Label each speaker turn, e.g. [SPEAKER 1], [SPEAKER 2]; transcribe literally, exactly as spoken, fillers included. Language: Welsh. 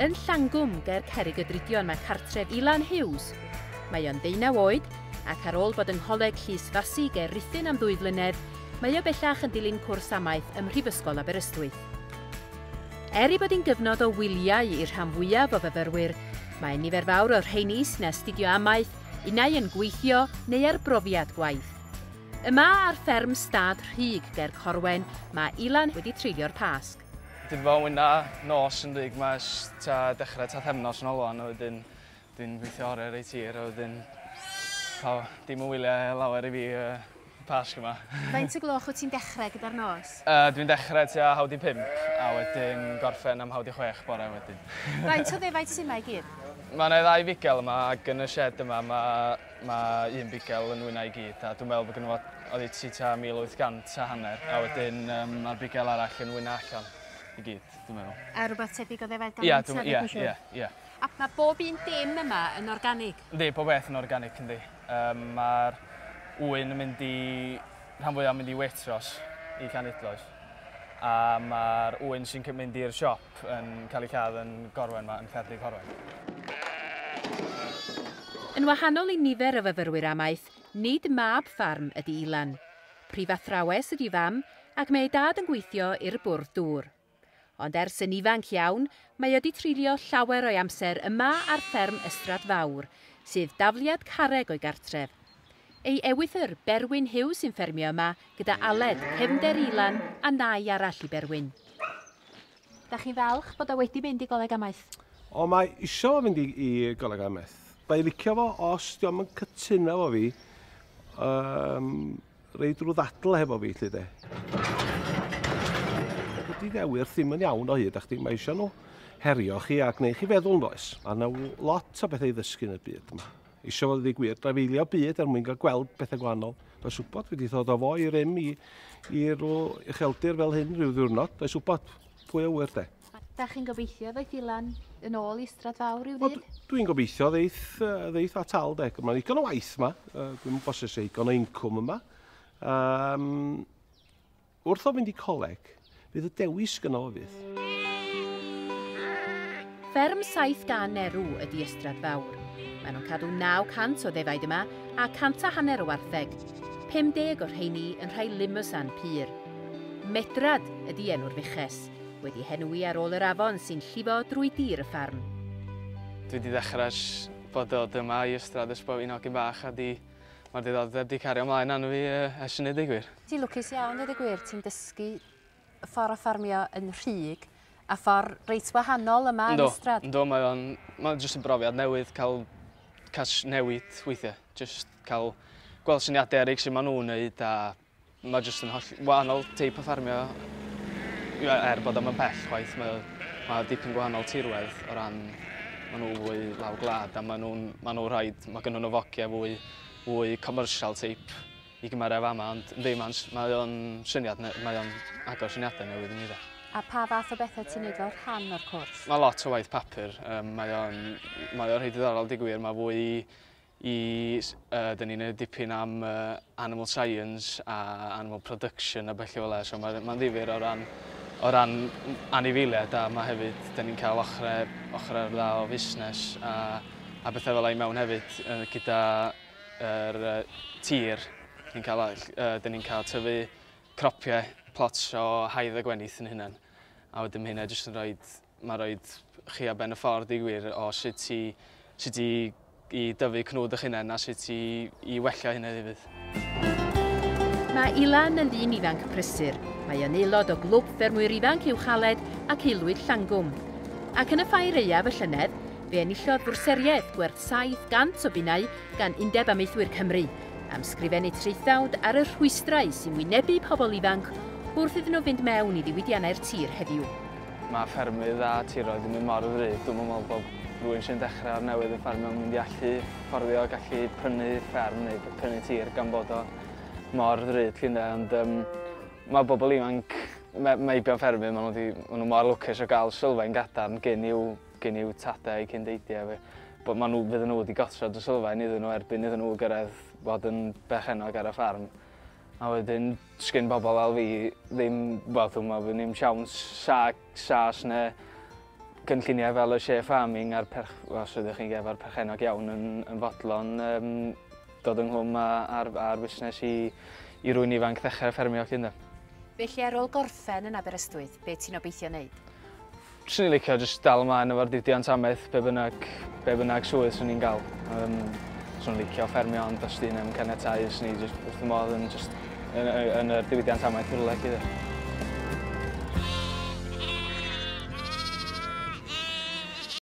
[SPEAKER 1] Yn Llangwm, ger Cerrig y Drudion, mae cartref Ilan Hughes. Mae o'n ddeunaw oed, ac ar ôl bod yng Ngholeg Llysfasi ger Rhuthun am ddwy flynedd, mae o bellach yn dilyn cwrs amaeth ym Mhrifysgol Aberystwyth. Er ei bod hi'n gyfnod o wyliau i'r rhan fwyaf o fyfyrwyr, mae nifer fawr o'r rheini sy'n astudio amaeth, unai yn gweithio neu ar brofiad gwaith. Yma ar fferm Stad Rhug ger Corwen, mae Ilan wedi treulio'r Pasg.
[SPEAKER 2] Dwi 'di bod yn wyna nos yn Rhug 'ma ers tua dechrau pythefnos yn ôl wan, a wedyn dwi'n gweithio oriau reit hir, a wedyn pa, dim yn wyliau lawer i fi uh, Pasg yma.
[SPEAKER 1] Faint o gloch wyt ti'n dechrau gyda'r nos?
[SPEAKER 2] Uh, dwi'n dechrau tua haw di pump, a wedyn gorffen am haw di chwech bore wedyn.
[SPEAKER 1] Faint o ddefaid sy'n yma i gyd?
[SPEAKER 2] Mae yna ddau fugel yma, ac yn y shed yma mae, mae un bugel yn wyna i gyd, a dwi'n meddwl bod gynno fo oddeutu tua mil wyth cant a hanner, a wedyn um, mae'r bugel arall yn wyna allan i gyd, dwi'n meddwl.
[SPEAKER 1] A rhywbeth tebyg o ddefaid gan
[SPEAKER 2] Ia, dwi'n- ia, ia, ia.
[SPEAKER 1] A mae bob un dim yma yn organig?
[SPEAKER 2] Yndi, pob beth yn organic, yndi. Um, mae'r ŵyn yn mynd i, rhan fwyaf yn mynd i Waitrose i Llanidloes. A mae'r ŵyn sy'n mynd i'r siop yn cael ei lladd yn Gorwen ma, yn Llandy Corwen.
[SPEAKER 1] Yn wahanol i nifer o fyfyrwyr amaeth, nid mab ffarm ydy Ilan. Prifathrawes ydy fam, ac mae ei dad yn gweithio i'r bwrdd dŵr. Ond ers yn ifanc iawn, mae wedi treulio llawer o'i amser yma ar fferm Ystrad Fawr, sydd dafliad carreg o'i gartref. Ei ewythr, Berwyn Hughes, sy'n ffermio yma gyda Aled, cefnder Ilan a nai arall i Berwyn. Da chi'n falch bod o wedi mynd i goleg amaeth?
[SPEAKER 3] O, mae isio fo fynd i, i goleg amaeth. Mae licio fo os dio'm yn cytuno efo fi, um, reid rhyw ddadl hefo fi, lle de. Dydy ddewyrth ddim yn iawn o hyd, a chdi, mae eisiau nhw herio chi a gwneud chi feddwl, does. Mae yna lot o bethau i ddysgu yn y byd yma. Isio fo ddweud gwir, drafeilio byd er mwyn cael gweld bethau gwahanol. Does wybod, wedi ddod o fo i rym i, i rhyw ucheldir fel hyn rhyw ddiwrnod. Does wybod, pwy a ŵyr de.
[SPEAKER 1] Da chi'n gobeithio ddoeth Ilan yn ôl i Ystrad Fawr ryw
[SPEAKER 3] Wel,
[SPEAKER 1] ddydd?
[SPEAKER 3] Dwi'n gobeithio ddeith, yy, ddeith at al de. Mae'n ddigon o waith yma. Yy, Dwi'n bosib eisiau digon o incwm yma. Um, wrth o fynd i coleg, fydd y dewis gynno fo fydd.
[SPEAKER 1] Fferm saith gan erw ydy Ystrad Fawr. Maen nhw'n cadw naw cant o ddefaid yma a cant a hanner o wartheg. pum deg o'r rheini yn rhai Limousin pur. Medrad ydy enw'r fuches, wedi henwi ar ôl yr afon sy'n llifo drwy dir y ffarm.
[SPEAKER 2] Dwi wedi dechrau ers bod dod yma i Ystrad ers bod fi'n hogyn bach a di, mae'r diddordeb di cario ymlaen arno fi uh, ers hynny, deud gwir.
[SPEAKER 1] Ti'n lwcus iawn, dweud y gwir, ti'n dysgu ffordd o ffarmio yn Rhug a ffordd reit wahanol yma yn
[SPEAKER 2] Yndw,
[SPEAKER 1] Ystrad.
[SPEAKER 2] Yndw, mae o'n, mae'n jyst yn brofiad newydd cael, cael newid weithiau. Jyst cael gweld syniadau eraill sy'n maen nhw'n neud a mae jyst yn holl wahanol teip o ffarmio. Ia, er bod o'm yn pell chwaith, mae, mae dipyn gwahanol tirwedd o ran maen nhw fwy lawr gwlad a maen nhw'n ma nhw rhaid, mae gynnu nhw fogiau fwy, fwy commercial type i gymharu efo fama, ond yndi, mae'n mae o'n syniad, ne- mae o'n agor syniadau newydd i mi de.
[SPEAKER 1] A pa fath o bethau ti'n neud fel rhan o'r cwrs?
[SPEAKER 2] Mae lot o waith papur, um, mae o'n mae o'n reit diddorol deud gwir, mae fwy i, i uh, dyn ni'n neud dipyn am uh, animal science a animal production a bellu fel 'na, so mae'n ma ddifyr o ran, o ran anifeiliaid a mae hefyd, dyn ni'n cael ochrau, ochrau dda o fusnes a, a bethau fel 'na i mewn hefyd uh, gyda yr uh, tir. Ni'n cael, uh, dyn ni'n cael tyfu cropiau, plots o haidd a gwenith yn hunain. A wedyn mae hynna jyst yn rhoi, mae'n rhoi chi ar ben y ffordd i gwir o sut i, sut i, i dyfu cnwd eich hunain a sut i, i wella hynna hefyd.
[SPEAKER 1] Mae Ilan yn ddyn ifanc prysur. Mae yn aelod o glwb ffermwyr ifanc Uwchaled ac Aelwyd Llangwm. Ac yn y ffair aeaf y llynedd, fe enillodd fwrseriaeth gwerth saith cant o bunnau gan Undeb Amaethwyr Cymru am sgrifennu traethawd ar y rhwystrau sy'n wynebu pobl ifanc wrth iddyn nhw fynd mewn i ddiwydiannau'r tir heddiw.
[SPEAKER 2] Mae ffermydd a tiroedd yn mynd mor ddrud, dwi'n meddwl bod rhywun sy'n dechrau o'r newydd yn ffermio yn mynd i allu fforddio gallu prynu fferm neu prynu tir gan bod o mor ddrud llun, ond um, mae bobl ifanc me- meibion ffermydd, maen nhw, di, maen nhw mor lwcus o gael sylfaen gadarn gen i'w, gen i'w tadau cyn deidiau. Bod maen nhw, fydden nhw wedi gosod y sylfaen iddyn nhw erbyn iddyn nhw gyrraedd fod yn berchennog ar y ffarm. A wedyn, sgyn bobl fel fi ddim, wel, dwi'n meddwl, ddim siawns sa, sas neu Gynlluniau fel y share farming a'r perch, os ydych chi'n efo'r perchennog iawn yn, yn fodlon um, dod ynghlwm ar, ar busnes i, i rywun ifanc ddechrau ffermio 'lly ynde.
[SPEAKER 1] Felly ar ôl gorffen yn Aberystwyth, be ti'n obeithio wneud?
[SPEAKER 2] Swn i'n licio jyst dal ymlaen efo'r diwydiant amaeth, be bynnag, be bynnag swydd swn i'n gael. Um, swn i'n licio ffermio, ond os 'di ddim caniatáu, swn i jyst wrth y modd yn, just, yn, yn, yn yr diwydiant amaeth rhywle 'lly.